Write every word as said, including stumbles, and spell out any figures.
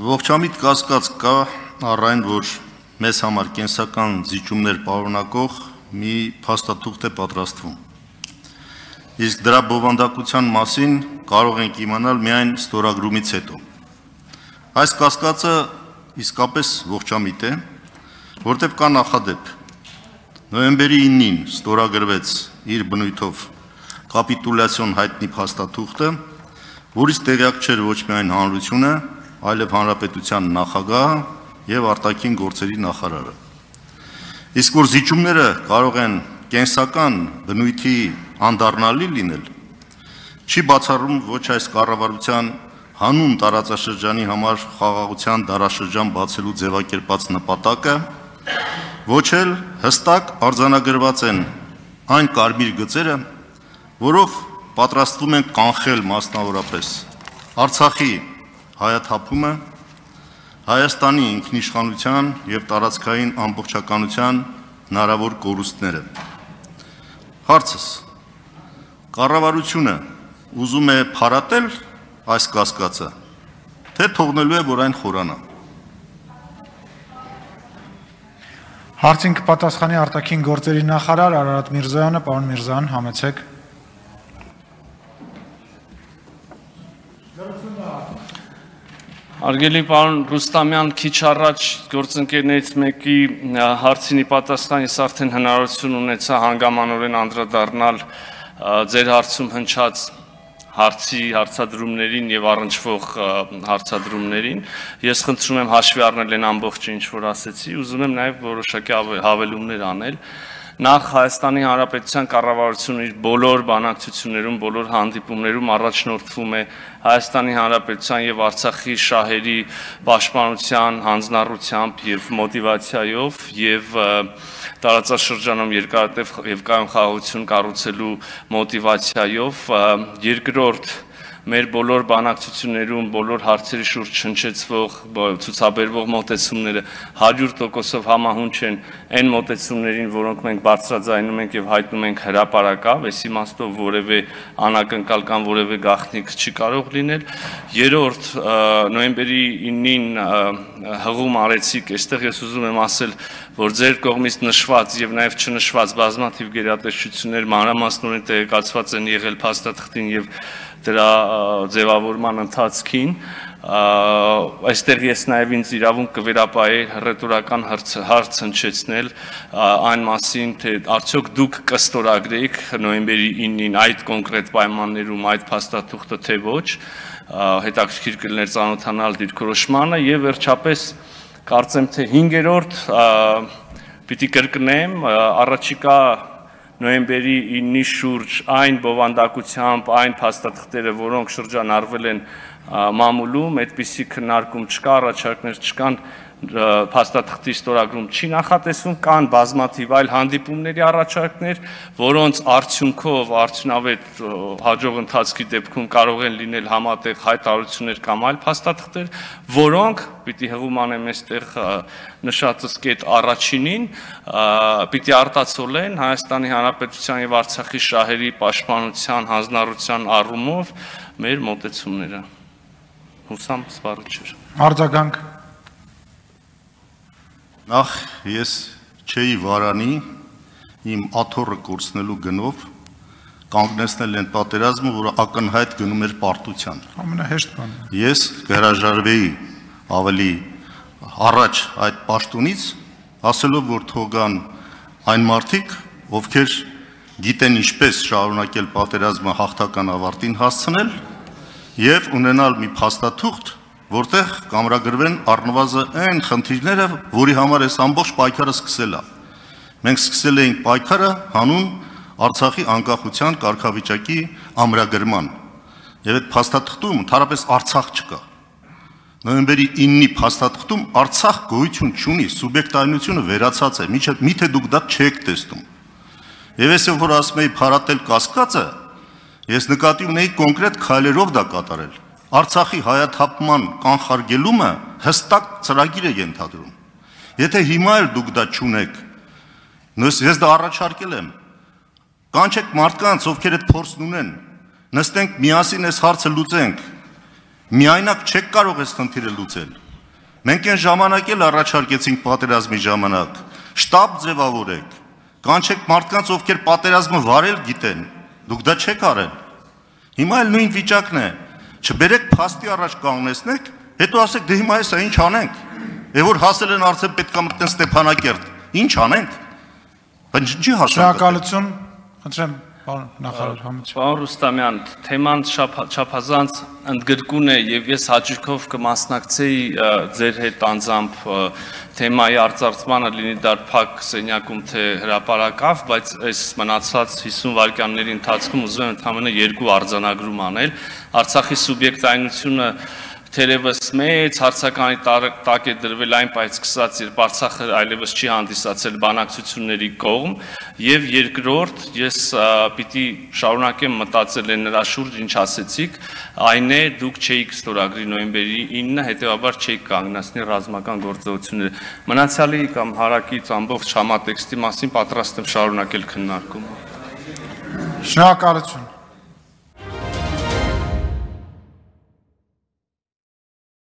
Ողջամիտ կասկած կա առ այն, որ մեզ համար կենսական զիջումներ պարունակող մի փաստաթուղթ է պատրաստվում։ Իսկ դրա բովանդակության մասին կարող ենք իմանալ միայն ստորագրումից հետո։ Այս կասկածը իսկապես ողջամիտ է, որտեղ կա նախադեպ։ Նոյեմբերի իննին ստորագրվեց իր բնույթով կապիտուլյացիոն հայտնի փաստաթուղթը, որից տեղյակ չէր ոչ միայն հանրությունը, այլև հանրապետության նախագահը եւ արտաքին գործերի նախարարը։ Իսկ որ զիջումները կարող են կենսական բնույթի անդառնալի լինել, չի բացառում ոչ այս կառավարության հանուն տարածաշրջանի համար խաղաղության դարաշրջան բացելու ձևակերպած նպատակը, ոչ էլ հստակ արձանագրված են այն կարմիր գծերը, որով պատրաստվում են կանխել մասնավորապես Արցախի հայաթափումը, Հայաստանի ինքնիշխանության եւ տարածքային ամբողջականության հնարավոր կորուստները։ Հարցս. կառավարությունը ուզում է փարատել այս կասկածը, թե թողնելու է, որ այն խորանա։ Հարցին կպատասխանի արտաքին գործերի նախարար Արարատ Միրզոյանը, պարոն Միրզոյան, համեցեք։ Արգելի պարոն Ռուստամյան, քիչ առաջ գործընկերներից մեկի հարցինի պատասխան ես արդեն հնարավորություն ունեցա հանգամանորեն անդրադառնալ ձեր հարցում հնչած հարցի հարցադրումներին եւ առնչվող հարցադրումներին։ Ես խնդրում եմ հաշվի առնել այն ամբողջը, ինչ որ ասեցի, ուզում եմ նաեւ որոշակի հավելումներ անել։ Նախ Հայաստանի Հանրապետության կառավարությունը իր բոլոր բանակցություններում, բոլոր հանդիպումներում առաջնորդվում է Հայաստանի Հանրապետության եւ Արցախի շահերի պաշտպանության, հանձնառությամբ եւ մոտիվացիայով եւ տարածաշրջանում երկարատև եւ կայուն խաղաղություն կառուցելու մոտիվացիայով երկրորդ մեր բոլոր բանակցություններում, բոլոր հարցերի շուրջ հնչեցվող, ցուցաբերվող մոտեցումները հարյուր տոկոսով համահունչ են այն մոտեցումներին, որոնք մենք բարձրաձայնում ենք եւ հայտնում ենք հրապարակավ, այս իմաստով որևէ անակնկալ կամ որևէ գաղտնիք չի կարող լինել։ Երրորդ, նոյեմբերի իննին հղում արեցիք, այստեղ ես ուզում եմ ասել, որ ձեր կողմից նշված եւ նաեւ չնշված բազմաթիվ գերատեսչություններ մանրամասնորեն տեղեկացված են եղել փաստաթղթին եւ դրա ձևավորման ընթացքին, այստեղ ես նաև ինձ իրավունք կվերապահեի ռետորական հարց հնչեցնել այն մասին, թե արդյոք դուք կստորագրեիք նոյեմբերի իննին այդ կոնկրետ պայմաններում այդ փաստաթուղթը, թե ոչ, հետաքրքիր կլիներ ծանոթանալ դիրքորոշմանը եւ վերջապես կարծեմ, թե հինգերորդ պիտի կրկնեմ, առաջիկա նոյեմբերի իննի շուրջ այն բովանդակությամբ, այն փաստաթղթերը, որոնք շրջանառվել են մամուլում, այդպիսի քննարկում չկա, առաջարկներ չկան, փաստաթղթի ստորագրում չի նախատեսվում, կան բազմաթիվ այլ հանդիպումների առաջարկներ, որոնց արդյունքով արդյունավետ հաջող ընթացքի դեպքում կարող են լինել համատեղ հայտարարություններ կամ այլ փաստաթղթեր, որոնք պիտի հղում անեմ այստեղ նշածս կետ առաջինին, պիտի արտացոլեն Հայաստանի Հանրապետության եւ Արցախի շահերի պաշտպանության, հանձնառության առումով մեր մոտեցումները։ Հուսամ սպառիչ։ Արձագանք։ Նախ ես չէի վարանի իմ աթոռը կորցնելու գնով կանգնեցնել են պատերազմը, որը ակնհայտ գնում էր պարտության։ Ամենահեշտ բանը։ Ես կհրաժարվեի ավելի առաջ այդ պաշտոնից, ասելով, որ թողան այն մարդիկ, ովքեր գիտեն ինչպես շարունակել պատերազմը հաղթական ավարտին հասցնել եւ ունենալ մի փաստաթուղթ, որտեղ կամրագրվեն առնվազն այն խնդիրները, որի համար այս ամբողջ պայքարը սկսել է։ Մենք սկսել էինք պայքարը հանուն Արցախի անկախության կարգավիճակի ամրագրման։ Եվ այդ փաստաթղթում ընդհանրապես Արցախ չկա։ Նոյեմբերի իննի փաստաթղթում Արցախ գոյություն չունի, սուբյեկտայնությունը վերացած է, միթե դուք դա չեք տեսնում։ Եվ ես որ ասում եի փարատել կասկածը, ես նկատի ունեի կոնկրետ քայլերով դա կատարել։ Արցախի հայաթափման կանխարգելումը հստակ ծրագիր է ենթադրում։ Եթե հիմա էլ դուք դա չունեք, ես դա առաջարկել եմ, կանչեք մարդկանց, ովքեր այդ փորձն ունեն, նստենք միասին այս հարցը լուծենք, միայնակ չեք կարող այս խնդիրը լուծել։ Մենք այն ժամանակ էլ առաջարկեցինք պատերազմի ժամանակ, շտաբ ձևավորեք, կանչեք մարդկանց, ովքեր պատերազմը վարել գիտեն, դուք դա չեք արել։ Հիմա էլ նույն վիճակն է, չբերեք փաստի առաջ կանգնեցնեք, հետո ասեք դե հիմա էսա ինչ անենք։ Եվ որ հասել են արդեն պետք է մտնեն Ստեփանակերտ, ինչ անենք։ Բայց ինչի հասանք։ Շնորհակալություն, խնդրեմ Պարոն նախարար Համոզյան։ Պարոն Ռուստամյան, թեման չափազանց ընդգրկուն է եւ ես հաճույքով կմասնակցեի ձեր հետ անձամբ թեմայի արձարծմանը, լինի դա փակ սենյակում թե հրապարակավ, բայց այս մնացած հիսուն վայրկյանների ընթացքում ուզում եմ ընդհանրապես երկու արձանագրում անել։ Արցախի սուբյեկտայնությունը Թերևս մեծ հարցականի տակ է դրվել այն պայծ սկսած, երբ Արցախը այլևս չի հանդիսացել բանակցությունների կողմ, եւ երկրորդ, ես պիտի շարունակեմ մտածել են նրա շուրջ, ինչ ասեցիք, այն է դուք չէիք ստորագրի նոյեմբերի ինը, հետեւաբար չէիք կանգնեցնի ռազմական գործողությունները։ Մնացյալի կամ հարակից ամբողջ համատեքստի մասին պատրաստ եմ շարունակել քննարկումը։ Շնորհակալություն։